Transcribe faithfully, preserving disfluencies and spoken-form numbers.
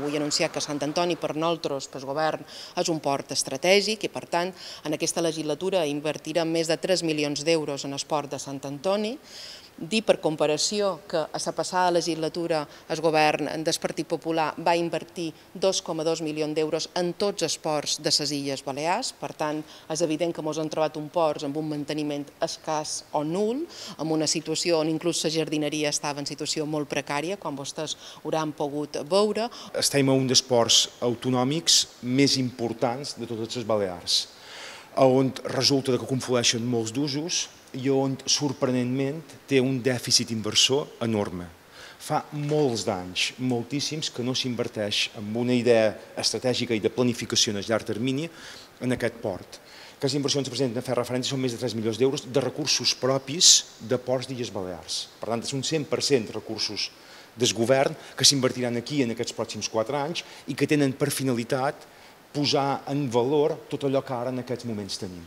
Vull anunciar que Sant Antoni per nosaltres, pel govern, és un port estratègic i, per tant, en aquesta legislatura invertirem més de tres milions d'euros en el port de Sant Antoni. Dir per comparació que a la passada legislatura el govern del Partit Popular va invertir dos coma dos milions d'euros en tots els ports de les Illes Balears. Per tant, és evident que ens hem trobat un port amb un manteniment escàs o nul, en una situació on inclús la jardineria estava en situació molt precària, com vostès hauran pogut veure. Estem a un dels ports autonòmics més importants de totes les Balears, on resulta que conflueixen molts d'usos i on, sorprenentment, té un dèficit inversor enorme. Fa molts d'anys, moltíssims, que no s'inverteix amb una idea estratègica i de planificació a llarg termini en aquest port. Aquestes inversions que presenten a fer referència són més de tres milions d'euros de recursos propis de ports d'Illes Balears. Per tant, és un cent per cent de recursos del govern que s'invertiran aquí en aquests pròxims quatre anys i que tenen per finalitat posar en valor tot allò que ara en aquests moments tenim.